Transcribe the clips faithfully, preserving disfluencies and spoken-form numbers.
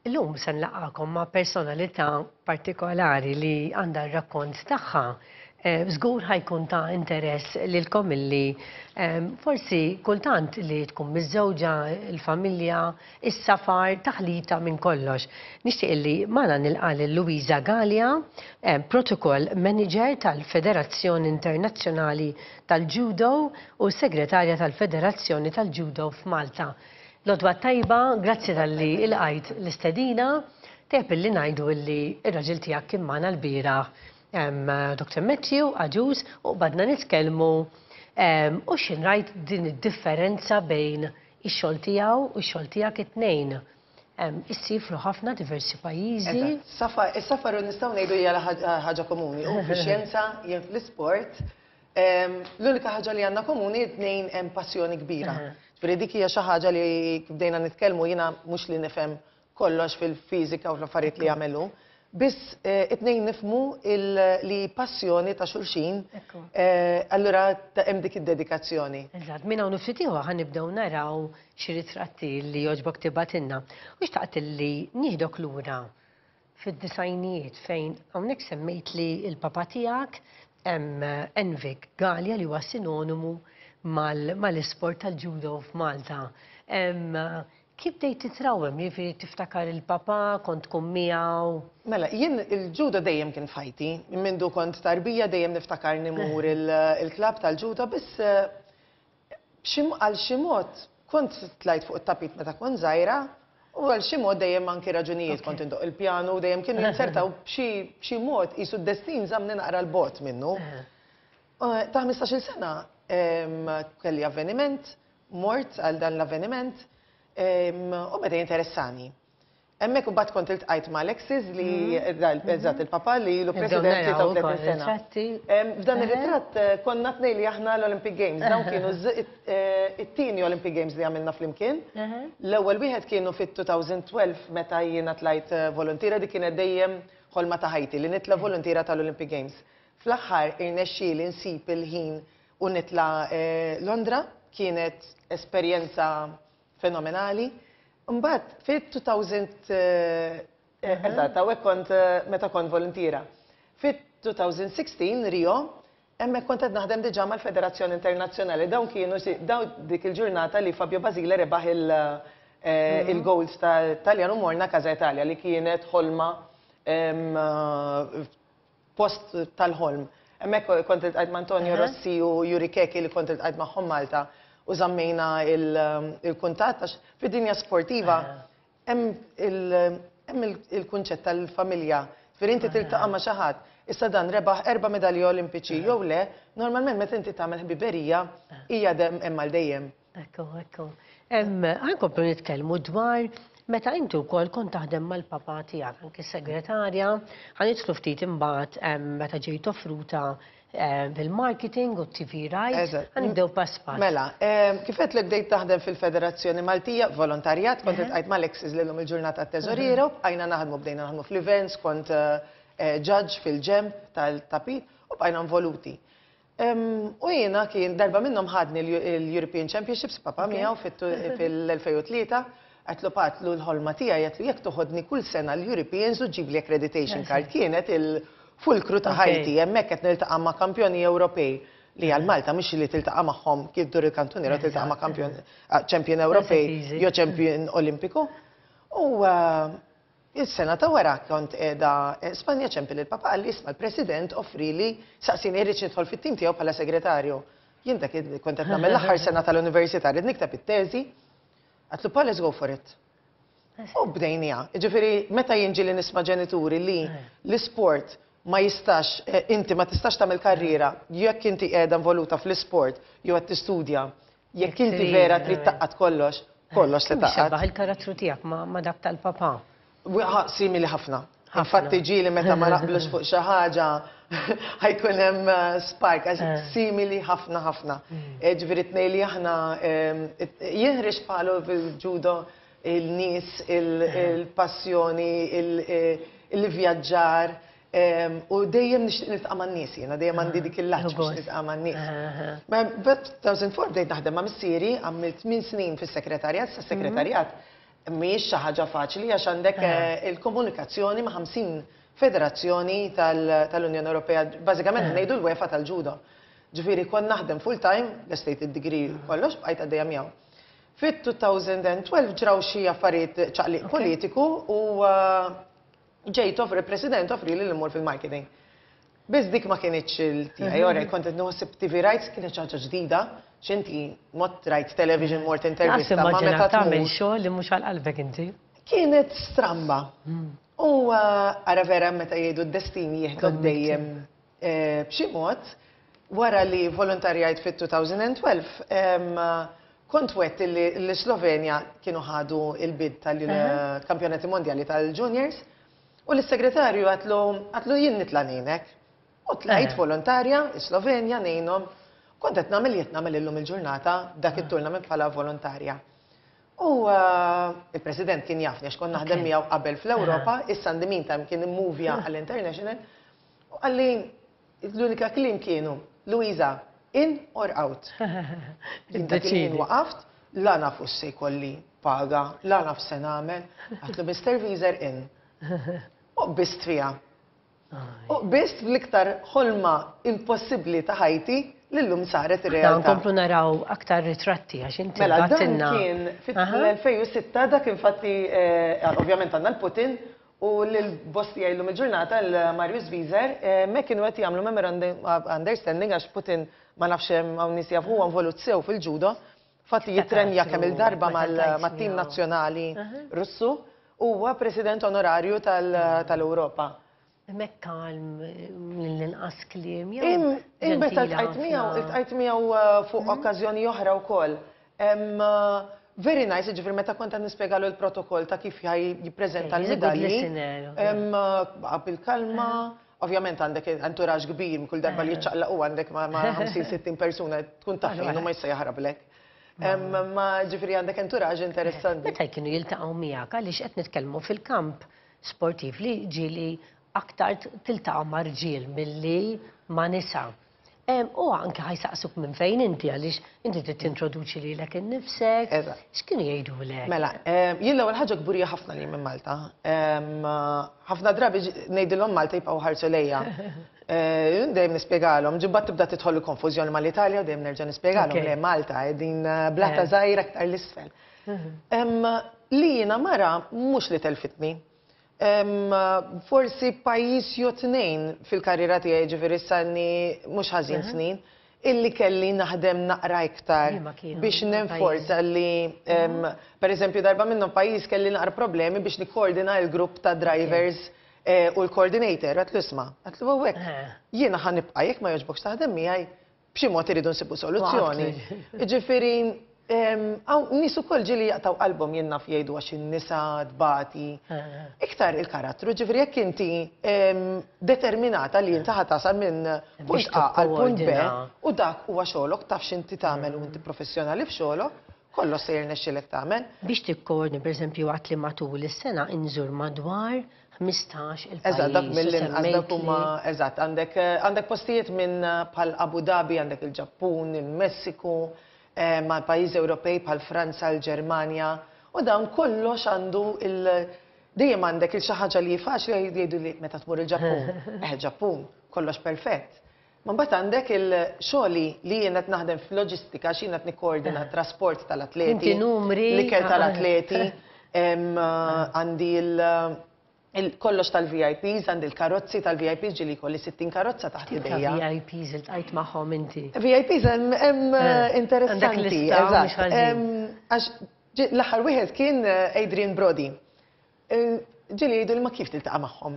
Illum se nlaqqagħkom ma' personalità partikolari li għandha r-rakkont tagħha. Eh, Żgur ħa jkun ta' interess lilkom illi em, forsi kultant li tkun miżżewġa, il-familja, is-safar, taħlita minn kollox. Nixtieq illi magħna nilqa' lil Luisa Galea, eh, Protocol Manager tal-Federazzjoni Internazzjonali tal-Judo u Segretarja tal-Federazzjoni tal-Judo f'Malta. L-għodwa t-tajba, grazzi talli lqajt l-istedina, tajjeb illi ngħidu illi ir-raġel tiegħek kien magħna lbieraħ Doctor Matthew Agius, u bdejna nitkellmu em, u x'ħin rajt din id-differenza bejn ix-xogħol tiegħu u x-xogħol tiegħek it-tnejn. Em, Issifru ħafna diversi pajjiżi. Eżatt. Safar, is-safar nistgħu ngħidu hija ħaġa ħaġa komuni. U fix-xjenza, jien fl-isport, em, l-unika ħaġa li għandna komuni, t-tnejn hemm passjoni kbira. Aha. Ġifieri dik hija xi ħaġa li bdejna nitkellmu, jiena mhux li nifhem kollox fil-fiżika u fl-affarijiet li jagħmlu. Biss eh, it-tnejn nifhmu il- li passjoni ta' xulxin, Ekku. eh, allura ta' hemm dik id-dedikazzjoni. Eżatt, minn hawn ftit ieħor ħa nibdew naraw xi ritratti li jogħġbok tibgħatilna. U xtaqt li nieħdok lura fid-disgħinijiet, fejn hawnhekk semmejt li il-papa tiegħek hemm Envic Galea, li huwa sinonimu mal- mal-isport tal-judo f'Malta. Em, Kif bdejt titrawem? Jiġifieri tiftakar il-papa, kont tkun miegħu? Mela, jien il-ġudo dejjem kien f'ħajti. Mindu kont tarbija dejjem niftakar nimur il-klab tal-ġudo, biss eh, b'xi- għal xi mod kont tlajt fuq it-tapit meta kont żgħira u għal xi mod dejjem anki raġunijiet kont indoq il-pjanu, dejjem kienu jinsertaw b'xi b'xi mod qisu d-destin żamni naqra 'l bogħod minnu. Eh, Ta' ħmistax-il sena em, kelli avveniment, mort għal dan l-avveniment em, u beda jinteressani. Hemmhekk u mbagħad kont iltqajt ma' Alexis li eżatt il-papa li ilu Nibdew president naraw tlieta u tletin ukoll sena. ritratti. Em, F'dan Eħe. ir-ritratt eh, konna tnejn li aħna l-Olympic Games. Dawn kienu z- it- eh, it-tieni Olympic Games li għamilna flimkien. Eħe. L-ewwel wieħed kienu fit-elfejn u tnax meta jiena tlajt eh, volontiera. Dik kienet dejjem ħolma ta' ħajti li nitla volontiera tal-Olympic Games. Fl-aħħar irnexxieli nsib il-ħin u nitla eh, Londra, kienet esperjenza fenomenali. Mbagħad fit-elfejn, eh, eżatt, hawnhekk kont eh, meta kont volontiera. Fit-elfejn u sittax Rio, hemmhekk kont qed naħdem diġà mal-Federazzjoni Internazzjonali. Dawn kienu si- dawn dik il-ġurnata li Fabio Basile rebaħ il- eh, il-gold tal-Taljan u morna Casa Italia, li kienet ħolma, em, eh, post tal-ħolm. Hemmhekk kont iltqajt ma' Antonio Rossi u Yuri Chechi, li kont iltqajt magħhom Malta u żammejna il- il-kuntatt, għax fid-dinja sportiva hemm il- hemm il- il-kunċett tal-familja. Ġifieri inti tiltaqa' ma' xi ħadd. Issa dan rebaħ erba' medalji olimpiċi jew le, normalment meta inti tagħmel ħbiberija hija dem hemm għal dejjem. Ekku, ekku. Em, Ħa nkomplu nitkellmu dwar meta inti wkoll kont taħdem mal-papa tiegħek, anki segretarja, ħa nidħlu ftit imbagħad em, meta ġejt offruta em, fil-marketing u T V rights, Eżatt. ħa nibdew pass pass. Mela, em, kif qed bdejt taħdem fil-Federazzjoni Maltija, volontarjat, kont iltqajt ma' Alexis li llum il-ġurnata teżoriera u bqajna naħdmu, bdejna naħdmu fl-events, kont eh, eh, judge fil-ġemp tal-tapit u bqajna involuti. Em, U jiena kien darba minnhom ħadni l-European Championships papa miegħu fil-elfejn u tlieta, għedtlu, "Patlu, l-ħolma tiegħi," għedtlu, "jekk toħodni kull sena l-Europeans u ġibli accreditation card." Kienet il-fulkru ta' Ok. ħajti, hemmhekk qed niltaqa' ma' kampjoni Ewropej li għal Malta mhux li tiltaqa' magħhom kif dur il-kantuniera tiltaqa' ma' kampjon ah, champion Ewropej easy. jew champion Olimpiku. U ah, il-sena ta' wara kont qiegħda eh, Spanja, ċempel il-papa, qalli, "Isma', l-president offrili, saqsini irrid nidħol fit-tim tiegħu bħala segretarju." Jien dak kont qed nagħmel l-aħħar sena tal-università, rrid nikteb it-teżi. Għedtlu, "Pa, let's go for it." U bdejnija. Ġifieri, meta jinġi li nisma' ġenituri li l-isport ma jistax, eh, inti ma tistax tagħmel karriera jekk inti qiegħda involuta fl-isport jew qed tistudja, jekk inti trid, vera trid eh. tgħaqqad kollox, kollox se Kemm tgħaqqad. xebbaħ il-karattru tiegħek ma' ma' dak tal-papa? Wi- Simili ħafna. Ħafna. Infatti ġieli meta ma naqblux fuq xi ħaġa ħa jkun hemm eh, spark, għax Eh. simili ħafna ħafna. Eh, Ġifieri tnejn li aħna ehm, it- jien ħriġt bħalu fil-ġudo, il-nies, il- il-passjoni, il- eh, il-vjaġġar ehm, u dejjem nixtieq niltaqa' man-nies jiena, dejjem għandi dik il-laċ biex Gost. niltaqa' man-nies. Aha. Ma b-elfejn u erbgħa bdejt naħdem ma' missieri, għamilt tmien snin fis-sekretarjat, sa sekretarjat Mhijiex xi ħaġa faċli għax għandek eh, il-komunikazzjoni ma' ħamsin federazzjoni tal- tal-Unjoni Ewropea, bażikament ngħidu l-UEFA tal-ġudo. Ġifieri kont naħdem full time, l-estate id-degree kollox, bqajt għaddejja miegħu. Fit-elfejn u tnax ġraw xi affarijiet, ċaqliq politiku, u uh, ġejt offri, il-President offri li l-mur fil-marketing. Biss dik ma kienitx il-tiegħi, ora kont qed naħseb T V rights kienet xi ħaġa ġdida, x'inti mort rajt television, mort intervista, ma immaġina meta tagħmel tmur. xogħol li mhux għal qalbek inti. Kienet stramba. U uh, ara vera meta jgħidu d-destin jieħdok dejjem eh, b'xi mod, wara li volontarjajt fit-elfejn u tnax, em, kont wet li l-Slovenja kienu ħadu il-bid tal-kampjonati mondjali tal-juniors u l-segretarju għedtlu għedtlu jien nitla' ngħinek. U tlajt Eh. volontarja, Slovenja ngħinhom. Kont qed nagħmel li qed nagħmel illum il-ġurnata dak it-tournament bħala volontarja. U uh, il-President kien jafni għax kont naħdem Ok. miegħu qabel fl-Ewropa, issa in the meantime kien immuvja għall-international. U qalli, l-unika kliem kienu, "Luisa, in or out?" Jien dak il-ħin Iddeċidi. waqaft, la nafu se jkolli paga, la naf se nagħmel, għedtlu, "Mister Wieser, in." U qbist fiha. U qbist fl-iktar ħolma impossibbli ta' ħajti li llum saret Da ir-realtà. nkomplu naraw aktar ritratti għax inti Mela, dan bagħtilna. kien fit-elfejn u sitta, dak infatti, eh, ovvjament għandna l-Putin u l-boss tiegħi llum il-ġurnata, l-Marius Wieser, eh, me kienu qed jagħmlu memorandum of understanding għax Putin, ma nafx hemm hawn nies jafu, huwa involut sew fil-ġudo, fatti jitrenja kemm il-darba meta mal- tajt mat-tim miegħu. nazzjonali Russu, huwa president onorarju tal- tal-Ewropa. Mek kalm, l-inqas kliem. Jew Im, im meta ġentila ltqajt miegħu, ħafna. iltqajt miegħu uh, fuq okkażjoni oħra wkoll. Em, uh, Very nice, ġifieri meta kont qed nispjegalu l-protokoll ta' kif ħaj jippreżenta Okay, he's a good l-medalji. listener. Em, uh, baqa' bil-kalma, ovvjament għandek entourage kbir, kull darba li jiċċaqlaq u għandek ma' ma' ħamsin sittin persuna tkun taf fejn u ma jista' jaħrablek. Em, Ma ġifieri għandek entourage interessanti. Meta kienu jiltaqgħu miegħek, għaliex qed nitkellmu fil-kamp sportiv li ġieli aktar tiltaqa' ma' rġiel milli ma' nisa. Em, U anke ħa jsaqsuk minn fejn inti, għaliex inti trid tintroduċi lilek innifsek. Eżatt. X'kienu jgħidulek? Mela, em, jien l-ewwel ħaġa kburija ħafna li minn Malta. Em, Ħafna drabi ġ- ngħidilhom Malta jibqgħu ħarsu lejja. Eh, Jien dejjem nispjegalhom, ġibbat tibda tidħol il-konfużjoni mal-Italja u dejjem nerġa' nispjegalhom Ok. li Malta qegħdin eh, blata Eh. żgħira aktar l-isfel. Em, Li jiena mara mhux li telfitni. Em, Forsi pajjiż jew tnejn fil-karriera tiegħi, ġifieri sanni mhux ħażin snin, illi kelli naħdem naqra iktar Liema kienu biex nenforza li, em, per eżempju, darba minnhom pajjiż kelli naqra problemi biex nikkoordina il-grupp ta' drivers eh, u l-coordinator, għedtlu, "Isma'," għedtlu, "hawnhekk, Eh. jiena ħa nibqa' jekk ma jogħġbokx taħdem miegħi, b'xi mod iridu nsibu soluzzjoni." Waqt. Ġifieri, hawn nies ukoll ġieli jaqtaw qalbhom, jien naf jgħidu għax in-nisa tbati. Eh. Iktar il-karattru, ġifieri jekk inti em, determinata li inti ħa tasal minn punt A għal punt B tikkoordina. u dak huwa xogħolok, taf x'inti tagħmel u inti professjonali f'xogħolok, kollox se jirnexxilek tagħmel. Biex tikkoordina, per eżempju, għedt li matul is-sena inżur madwar ħmistax il-pajjiż. Eżatt, dak u mill-inqas dak semmejt huma li- eżatt, għandek għandek postijiet minn eh, bħal Abu Dhabi, għandek il-Ġappun, il-Messiku, eh, ma' pajjiżi Ewropej bħal Franza, l-Ġermanja, u dawn kollox għandu il- dejjem għandek il xi ħaġa li faċli jgħidu li meta tmur il-Ġappun. Eh, Ġappun, kollox perfett. Ma mbagħad għandek il-xogħli li jien qed naħdem fil-loġistika, xi qed nikkoordina trasport tal-atleti. Inti numri. L-ikel tal-atleti, em, għandi il- il- kollox tal-V I Ps, għandi il-karozzi tal-V I Ps, ġieli kolli sittin karozza taħt Tip ta' idejja. V I Ps iltqajt magħhom inti. V I Ps hemm hemm, Eh, interessanti. għandek lista, mhux Eżatt. ħażin. Em, Għax ġi- l-aħħar wieħed kien eh, Adrian Brody. Eh, Ġieli jgħidu li ma kif tiltaqa' magħhom.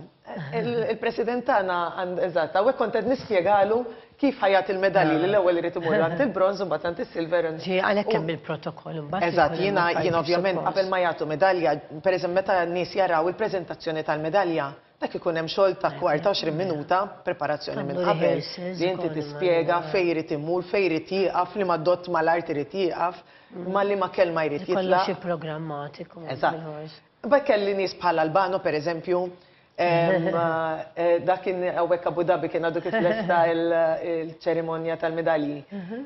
Il- Il-president tagħna għand eżatt, hawnhekk kont qed nispjegalu kif ħa jagħti il-medalji, li l-ewwel irid imur għand il-bronż u mbagħad għand is-silver. Ġi, għalhekk hemm il-protokoll imbagħad. Eżatt, ikun hemm jiena affarijiet jiena ovvjament suppost. qabel ma jagħtu medalja, pereżempju meta n-nies jaraw il-preżentazzjoni tal-medalja, dak ikun hemm xogħol ta' kwarta, għoxrin minuta preparazzjoni minn Tagħmlu qabel. rehearsals Li inti ukoll tispjega ma- fejn irid imur, fejn irid jieqaf, li ma dott mal-art irid jieqaf, ma li ma kelma jrid Kollox jitlaq. ipprogrammatiku. Eżatt. bil-ħors. Ba kelli nies bħal Albano, per eżempju, em, eh, dak kien hawnhekk Abu Dhabi, kien għadu kif lesta il- il-ċerimonja tal-medalji.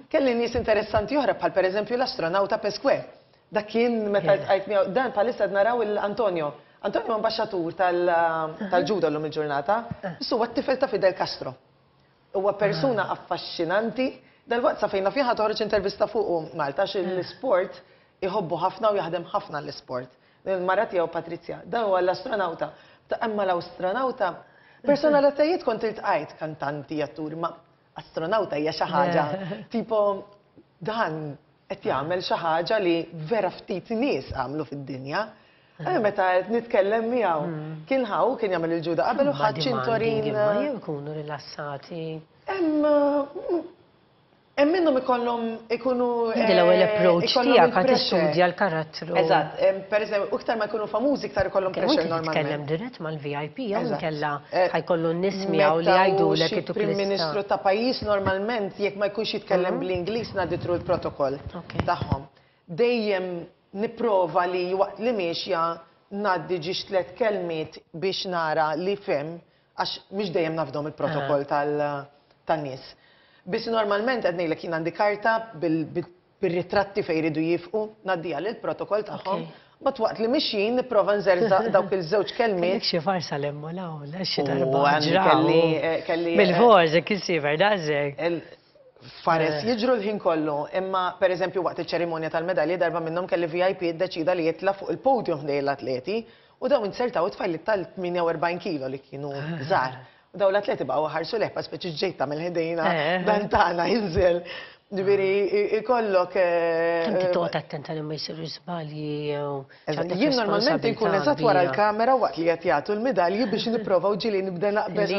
Kelli nies interessanti oħra bħal per eżempju l-astronauta Pesquet. Dak kien meta ltqajt miegħu, dan bħalissa qed naraw il-Antonio. Antonio ambaxxatur tal-ġudo llum il-ġurnata, issa huwa t-tifel ta' Fidel Castro. Huwa persuna affaxxinanti, dal-waqt sa fejna fiha toħroġ intervista fuqu Malta, għax l-sport iħobbu ħafna u jaħdem ħafna l-sport. Il-mara tiegħu Patrizja, dan huwa l-astronauta. Ta' imma l-astronauta, personalitajiet kont iltqajt, kantanti, atturi, ma astronauta hija xi ħaġa. Tipo dan qed jagħmel xi ħaġa li vera ftit nies għamlu fid-dinja. Għalli meta qed nitkellem miegħu, kien ħaw kien jagħmel il-ġuda qabel u ħadd ċintorin. Ma jew ikunu rilassati. Hemm hemm minnhom ikollhom ikunu Inti l-ewwel approach tiegħek ħa tistudja l-karattru. Eżatt, per eżempju, iktar ma jkunu famużi iktar ikollhom pressure normalment. Titkellem dirett mal-V I P jew inkella ħa jkollu n-nies miegħu li jgħidulek itu Prim Ministru ta' pajjiż, normalment jekk ma jkunx jitkellem bl-Ingliż ngħaddi through l-protokoll tagħhom. Dejjem nipprova li waqt li miexja ngħaddi ġiex tliet kelmiet biex nara li fem, għax mhix dejjem nafdom il-protokoll tan-nies. Biss normalment qed ngħidlek, jien għandi karta bil-ritratti fejn jridu jifqu, ngħaddiha lill-protokoll tagħhom. But waqt li mixjin nipprova nżerżaq dawk il-żewġ kelmiet. Xi farsa lemmu l xi darba. Kelli kelli. Bil-forsi kisifer dażek. Fares jiġru l-ħin kollu, imma per eżempju waqt iċ-ċerimonja tal-medalji darba minnhom kelli V I P iddeċida li jitla' fuq il-podium ħdejn l-atleti u dawn insertaw it-tfajliet tal-tmienja u erbgħin kilo li kienu żgħar. U daw l-atleti baqgħu ħarsu leħpa speċi ġejta mill-ħdejna dan tagħna jinżel. Ġifieri ikollok. Kemm toqgħod attenta li ma jsiru żbalji jew. Jien normalment inkun eżatt wara l-kamera waqt li qed jagħtu l-medalji biex nipprova u ġieli nibda naqbeż.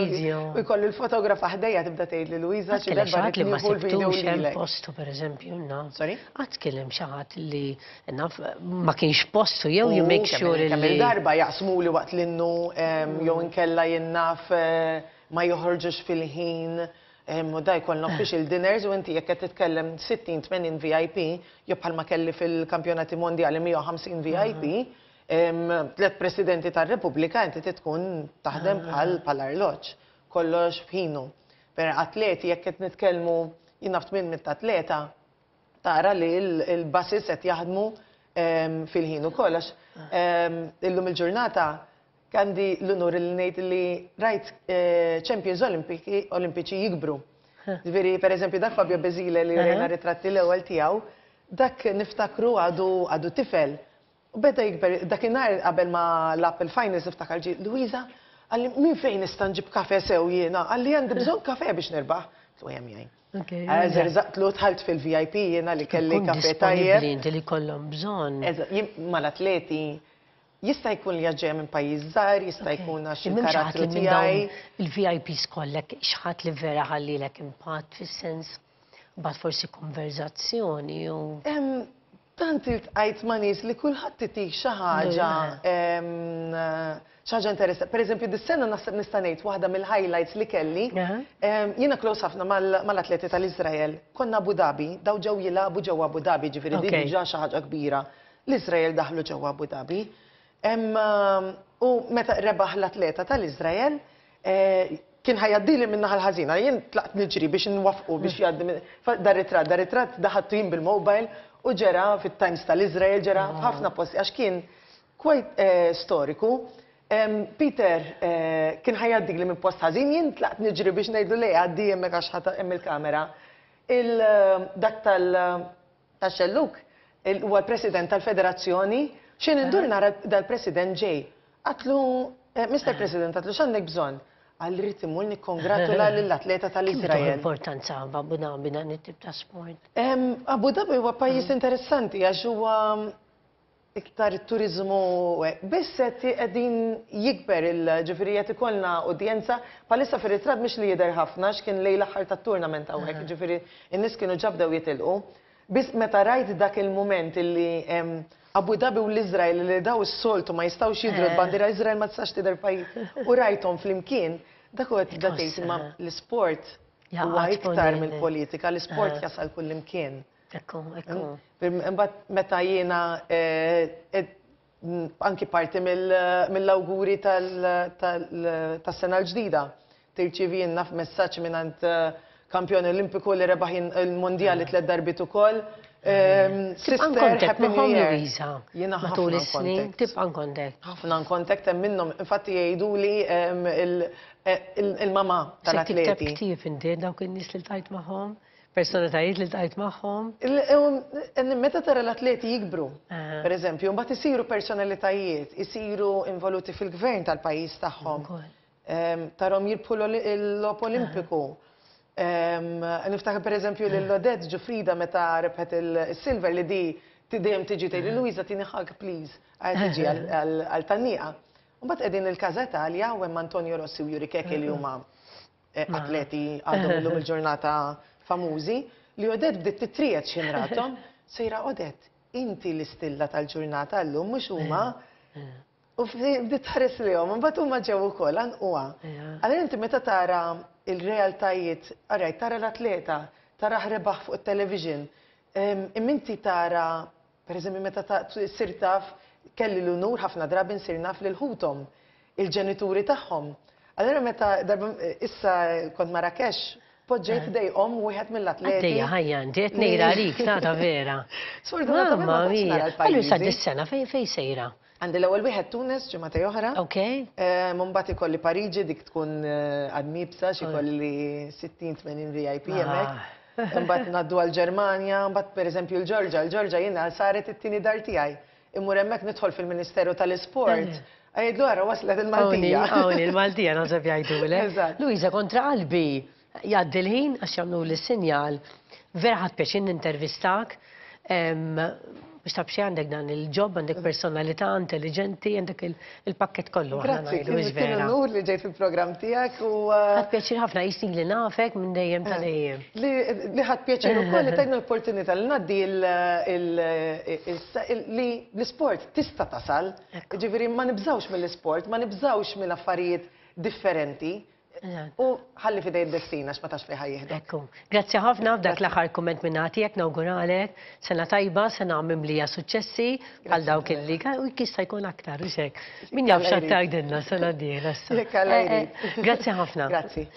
U jkollu l-fotografa ħdejja tibda tgħid li Luisa, xi darba li ma sibtux hemm postu, pereżempju, naf. Sorry? Qatt kien xi ħadd li naf ma kienx postu jew you make sure li. Kemm il-darba jaqsmu li waqt l-innu jew inkella jien naf ma joħorġux fil-ħin. U da jkollna official dinners u inti jekk qed titkellem sittin tmenin V I P, jew bħalma kelli fil-kampjonati mondjali mija u ħamsin V I P, tliet presidenti tar-Repubblika, inti tkun taħdem bħal bħal arloġġ, kollox f'ħinu. Per atleti, jekk qed nitkellmu jien naf tmien mitt atleta, tara li l-buses qed jaħdmu fil-ħin ukoll, għax illum il-ġurnata għandi l-unur li ngħid li rajt Champions Olimpiċi jikbru. Ġifieri, per eżempju, dak Fabio Basile li rejna ritratti l-ewwel tiegħu, dak niftakru għadu għadu tifel. U beda jikber, dakinhar qabel ma lagħab il-finals niftakar ġi, "Luisa," qalli, "minn fejn nista' nġib kafe sew jiena?" Qalli, "għandi bżonn kafe biex nirbaħ." Tu hemm jgħin. Zerżaqtlu, dħalt fil-V I P jiena li kelli kafe tajjeb. Inti li kollhom bżonn. Mal-atleti jista' jkun li ġej minn pajjiż żgħar, jista' jkun għax il-karattru tiegħi. Il-V I Ps kollek, xi ħadd li vera ħallilek impatt fis-sens, bad forsi konverzazzjoni u. Tant iltqajt ma' nies li kulħadd itik xi ħaġa xi ħaġa interessanti. Per eżempju, dis-sena naħseb nista' ngħid waħda mill-highlights li kelli. Jiena close ħafna mal-atleti tal-Iżrael. Konna Abu Dhabi, daw ġew jilagħbu ġewwa Abu Dhabi, ġifieri din diġà xi ħaġa kbira. L-Iżrael daħlu ġewwa Abu Dhabi. U meta rebaħ l-atleta tal-Iżrael, kien ħa jgħaddili minn naħa l-ħażina, jien tlaqt niġri biex nwaffqu biex jgħaddi. Dar ritratt, dar ritratt daħattu jien bil-mobile u ġera fit-Times tal-Iżrael, ġera f'ħafna posti għax kien quite storiku. Peter kien ħa jgħaddili minn post ħażin, jien tlaqt niġri biex ngħidlu le, għaddi hemmhekk għax hemm il-kamera. Dak tal-xelluk huwa l-President tal-Federazzjoni, xejn indur nara dal-President ġej. Għedtlu, "Mister President," għedtlu, "x'għandek bżonn?" Qalli, "Rrid immur nikkongratula lill-atleta tal-Iżrael." Importanza Abu Dhabi dan it-tip ta' sport. Abu Dhabi huwa pajjiż interessanti għax huwa iktar turizmu, biss qed qegħdin jikber il-ġifieri qed ikollna udjenza. Bħalissa fir-ritratt mhix li jidher ħafna x'kien lejn l-aħħar tat-tournament hawnhekk, ġifieri n-nies kienu ġabdew jitilqu. Biss meta rajt dak il-mument illi Abu Dhabi u l-Izrael li daw is-soltu ma jistgħux jidhru, l-bandiera Izrael ma tistax tidher pajjiż, u rajthom flimkien, dak huwa tibda tgħid imma l-isport huwa iktar mill-politika, l-isport jasal kullimkien. Ekku, ekku. Imbagħad meta jiena anki parti mill-awguri tas-sena l-ġdida, tirċivi naf messaġġ minn kampjon olimpiku li rebaħ il-mondjali tliet darbiet ukoll. Sister, Happy New Year. Luisa, matul is-snin, tibqa' contact. Ħafna contact hemm minnhom, infatti jgħidu li il-mama tal-atleti. Tikteb ktieb inti dawk in-nies li ltqajt magħhom? Personalitajiet li ltqajt magħhom? Meta tara l-atleti jikbru, per eżempju, mbagħad isiru personalitajiet, isiru involuti fil-gvern tal-pajjiż tagħhom. Tarahom jirbħu l-logħob Olimpiku. Niftakar per eżempju lil Odette Giuffrida meta rebħet il-silver li di dejjem tiġi tgħidli Luisa tini hug please, tiġi għal tgħanniqa. Mbagħad qegħdin il-Casa Italia u hemm Antonio Rossi u Yuri Chechi li huma atleti għadhom illum il-ġurnata famużi, li Odette bdiet titriegħed x'ħin rathom, sejra Odette, inti l-istilla tal-ġurnata llum mhux huma. U bdiet tħares lejhom, imbagħad huma ġew ukoll għanquha. Allura inti meta tara il-realtajiet, araj, tara l-atleta, tara rebaħ fuq il-television, imma inti tara, per eżempju, meta sir taf, kelli l-unur ħafna drabi nsir naf lil ħuthom, il-ġenituri tagħhom. Allura meta darba issa kont Marrakesh, poġġejt ħdejhom wieħed mill-atleti. Għaddejja ħajja inti qed ngħid għalik tata vera. Sfortunatament ma tantx nara l-pajjiżi. Allura sa dis-sena fejn fejn sejra? Għandi l-ewwel wieħed Tunis ġimgħa oħra. Ok. Mbagħad ikolli Pariġi dik tkun għad mibsa xi kolli sittin tmenin V I P hemmhekk. Mbagħad ngħaddu għall-Ġermanja, mbagħad pereżempju l-Ġorġa, l-Ġorġa jiena saret it-tieni dar tiegħi. Immur hemmhekk nidħol fil-Ministeru tal-Isport. Għajdlu ara waslet il-Maltija. Hawn il-Maltija naħseb jgħidulek. Luisa, kontra qalbi jgħaddi l-ħin għax jagħmlu l-sinjal. Vera ħadt pjaċir nintervistak. Biex taf xi għandek dan il-job, għandek personalità intelligenti, għandek il-pakket kollu. Grazzi, kien unur li ġejt fil-programm tiegħek u. Ħadt pjaċir ħafna jisni li nafek minn dejjem ta' dejjem. Li ħadt pjaċir ukoll li tajna l-opportunità li ngħaddi li l-isport tista' tasal. Ġifieri ma nibżawx mill-isport, ma nibżawx minn affarijiet differenti. U ħalli f'idej id-destin għax ma tafx fejn ħa jieħdek. Ekku. Grazzi ħafna f'dak l-aħħar kumment minn tiegħek nawguralek. Sena tajba, sena mimlija suċċessi għal dawk illi u jista' jkun aktar u xek. Min jaf x'għad tgħidilna sena dieħla issa. Grazzi ħafna. Grazzi.